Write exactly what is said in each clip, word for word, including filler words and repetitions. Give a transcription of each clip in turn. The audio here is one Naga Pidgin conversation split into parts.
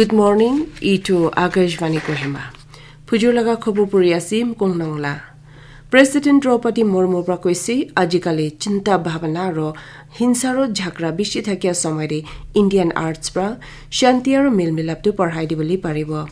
Good morning, itu Akashvani Kohima. Phujur laga khobor puri ase, Mkong Nongla. President Draupadi Murmu pra koise, ajikali chinta bhabana aro hinsa aro jhagara bishi thakia somoy te Indian arts pra shanti aro mel milap tu barhai dibole paribo.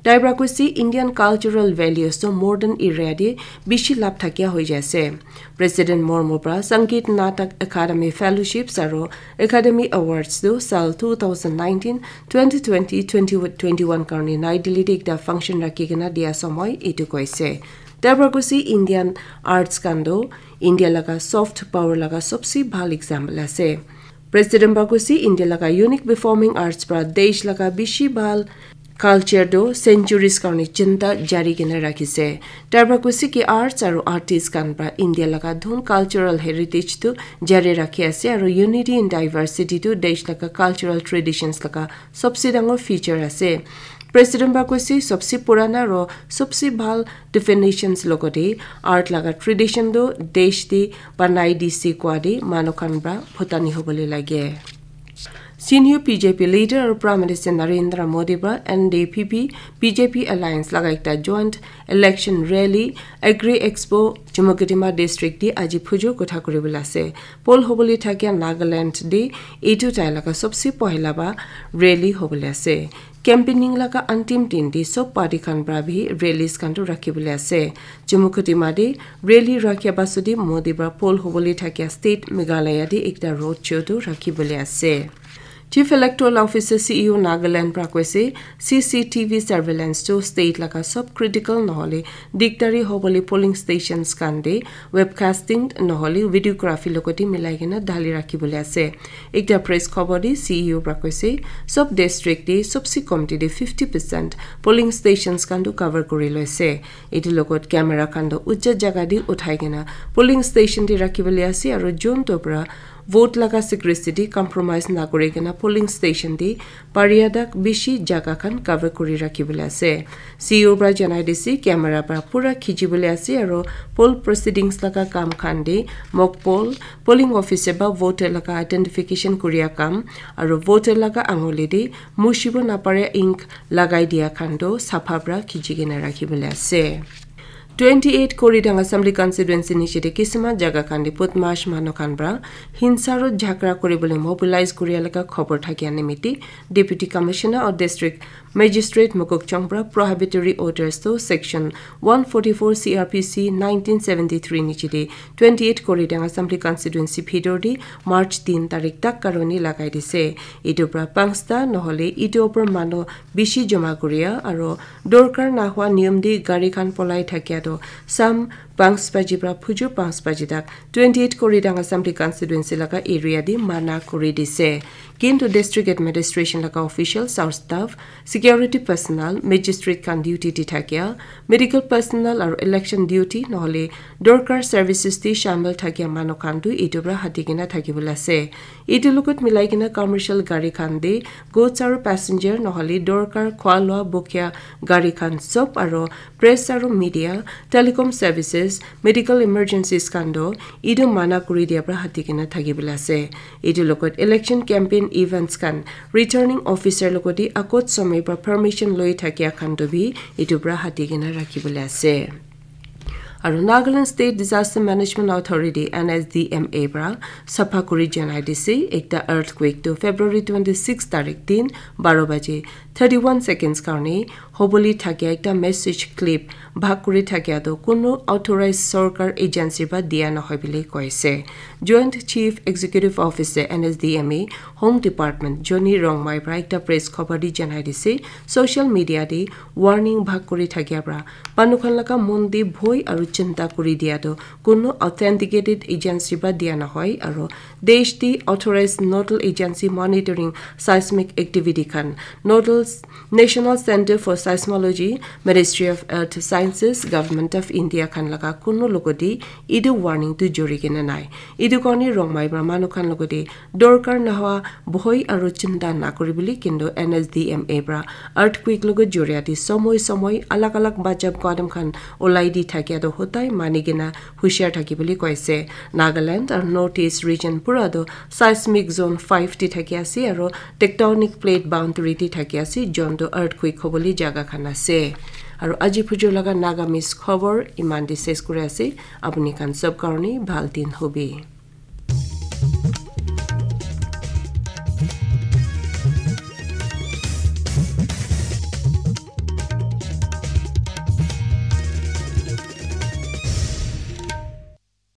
Tai pra koise, Indian cultural values tu modern era te bishi lap thakia hoi jai ase. President Murmu pra Sangeet Natak Akademi Fellowships aro Academy Awards tu sal two thousand nineteen, twenty twenty, twenty twenty-one karne Nai Delhi te ekta function rakhi kena dia somoy etu koise. Tai pra koise, Indian arts khan tu India laga soft power laga sobse bhal example ase. President pra koise, India laga unique performing arts pra desh laga bishi bhal culture tu centuries karne chinta jari kena rakhise. Tai pra koise ki arts aro artist khan pra India laga dhun cultural heritage tu jari rakhi ase aro unity in diversity tu desh laga cultural traditions laga sobse dangor feature ase. President pra koise, sobse purana aro sobse bhal definitions logote art laga tradition tu desh te banai dise koa te manu khan pra bhutani hobole lage. Senior B J P leader aru Prime Minister Narendra Modi pra N D P P B J P alliance laga ekta joint election rally Agri Expo Chumukedima district te aji phujur kotha kuribole ase. Poll hobole thakia Nagaland te etu tai laga sobse pohila ba rally hobole ase. Campaigning laga antim din te sob party khan pra bi rallies khan tu rakhi bole ase. Chumukedima te rally rakhia pasot te Modi pra poll hobole thakia state Meghalaya te ekta road show tu rakhi bole ase. Chief Electoral Officer C E O Nagaland pra koise, C C T V surveillance tu state laga sob critical nohole digdari hobole polling stations khan te webcasting nohole videography logote milai kena dhali rakhi bole ase. Ekta press khobor te C E O pra koise, sob district te sobse kom te fifty percent polling stations khan tu cover kuri loise. Etu logot camera khan tu ucha jaga te uthai kena polling station te rakhi bole ase aru jun to pra vote laga secrecy te compromise na kuri kena polling station te paria tak bishi jaga khan cover kuri rakhi bole ase. C E O pra janai dise camera pra pura khichi bole ase aru poll proceedings laga kam khan te mock poll, polling officer ba voter laga identification kuria kam aru voter laga anguli te mushibo na paria ink lagai dia khan tu sapha pra khichi kena rakhi bole ase. Twenty-eight Koridang Assembly Constituency niche te kisima jaga khan te Budmash manu khan pra hinsa aro jhagara kuri bole mobilize kuria laga khobor thakia nimite Deputy Commissioner or District Magistrate Mokokchung pra prohibitory orders to Section one forty-four C R P C nineteen seventy-three niche te twenty-eight Koridang Assembly Constituency bhitor te March tin tarik tak karone lagai dise. Etu pra pangsta nohole etu opor manu bishi joma kuria aro dorkar nahua niyom te gari khan polai thakia to sam panch baji pra phujur panch baji tak twenty-eight Koridang Assembly Constituency laga area te mana kuri dise. Kintu District Administration laga officials aru staff, security personnel, magistrate khan duty te thakia, medical personnel aru election duty nohole dorkar services te shamil thakia manu khan tu etu pra hati kena thaki bole ase. Etu logot milai kena commercial gari khan te goods aru passenger nohole dorkar khwa lua bokhia gari khan sob aru press aru media, telecom services, medical emergencies khan tu etu mana kuri dia pra hati kena thaki bole ase. Etu logot election campaign events khan returning officer logote agot somoy pra permission loi thakia khan tu bi etu pra hati kena rakhi bole ase. Aru Nagaland State Disaster Management Authority, N S D M A pra sapha kuri janai dise, ekta earthquake tu February twenty-six tarik din baro baji thirty-one seconds karne hobole thakia ekta message clip bhag kuri thakia tu kunu authorized sorkar agency pra dia nohoi bole koise. Joint Chief Executive Officer, N S D M A, Home Department, Johnny Rongmai pra ekta press khobor te janai dise, social media te warning bhag kuri thakia pra manu khan laga mon te bhoi aru chinta kuri dia tu kunu authenticated agency pra dia nohoi aru desh te authorized nodal agency monitoring seismic activity khan nodal National Centre for Seismology, Ministry of Earth Sciences, Government of India khan laga kunu logote etu warning tu jori kena nai. Etu karne Rongmai pra manu khan logote dorkar nohoa bhoi aru chinta nakuri bole kintu N S D M A pra earthquake logot joria te somoi somoi alag alag bachab kadam khan ulai di thakia tu hotai mani kena hushar thaki bole koise. Nagaland aru North East region pura tu seismic zone five te thaki ase aru tectonic plate boundary te thaki ase. John Doe earthquake hobole jaga khan ase. Aru aji phujor laga Nagamese khobor iman te ses kuri ase. Apuni khan sob karone bhal din hobi.